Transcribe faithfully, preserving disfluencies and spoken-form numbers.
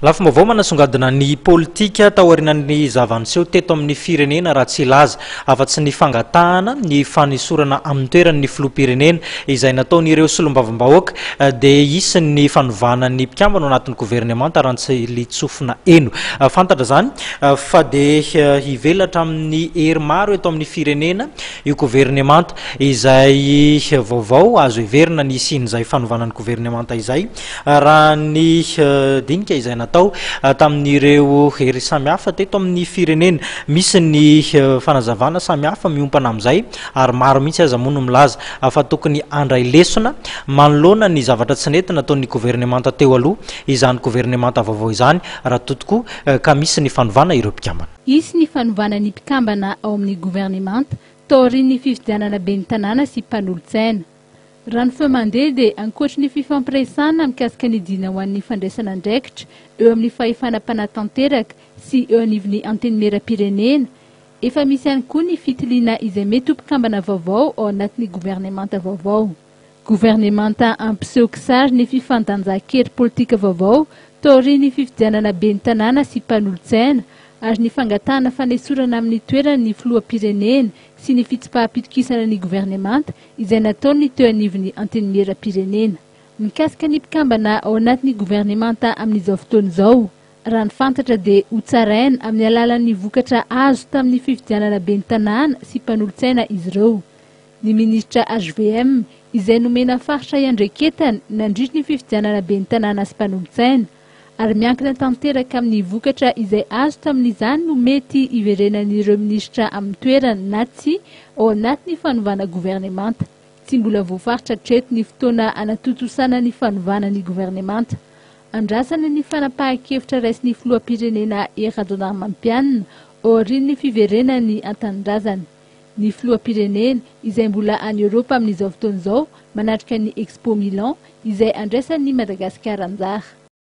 Lafim-baovao manasongadina ny politika taorian'ny zava-niseho teto amin'ny firenena, raha tsy hilaza afa-tsy ny fangatahana ny fanesorana amin'ny toerany ny filoham-pirenena izay nataon'ireo solombavambahoaka, dia hisy ny fanovana ny mpikambana ao anatin'ny governemanta raha tsy litsofina eno. Fantatra izany fa dia hivelatra amin'ny hery maro eto amin'ny firenena io governemanta izay vaovao. Azo heverina ny hisian'izay fanovana ny governemanta izay raha ny dinika izay natao tamin'ireo hery samihafa teto amin'ny firenena. Misy ny fanazavana samihafa miompana amin'izay, ary maro mihitsy aza moa no milaza fa tokony handray lesona manoloana ny zavatra tsy nety nataon'ny governemanta teo aloha izany governemanta vaovao izany, raha toa tokoa ka misy ny fanovana ireo mpikambana. Hisy ny fanovana ny mpikambana ao amin'ny governemanta taorian'ny fifidianana ben'ny tanàna sy mpanolotsaina. Raha ny feo mandeha, dia ankoatry ny fifampiresahana mikasika ny dina ho an'ny fandraisana andraikitra eo amin'ny fahefana mpanatanteraka sy eo anivon'ny antenimieram-pirenena, efa misy ihany koa ny fitiliana izay mety ho mpikambana vaovao ao anatin'ny governemanta vaovao. Governemanta ampiseho kisary ny fifandanjan-kery politika vaovao taorian'ny fifidianana ben'ny tanàna sy mpanolotsaina ary ny fangatahana fanesorana amin'ny toerany ny filoham-pirenena sy ny fitsipaham-pitokisana ny governemanta izay nataony teo anivon'ny antenimieram-pirenena. Mikasika ny mpikambana ao anatin'ny governemanta amin'izao fotoana izao, raha ny fantatra, dia ho tsaraina amin'ny alalan'ny vokatra azo tamin'ny fifidianana ben'ny tanàna sy mpanolotsaina izy ireo. Ny ministra H V M izay nomena faritra iandraiketany nandritry ny fifidianana ben'ny tanàna sy mpanolotsaina, ary miankina tanteraka amin'ny vokatra izay azo tamin'izany no mety hiverenan'ireo minisitra amin'ny toerana na tsy ao anatin'ny fanovana governemanta. Tsy mbola voafaritra hatreto ny fotoana anatontosana ny fanovana ny governemanta. Andrasana ny fanapahan-kevitra raisin'ny filoham-pirenena Hery Rajaonarimampianina aorian'ny fiverenany an-tanindrazana. Ny filoham-pirenena izay mbola any Eoropa amin'izao fotoana izao manatrika ny Expo Milan izay andraisan'ny Madagasikara anjara.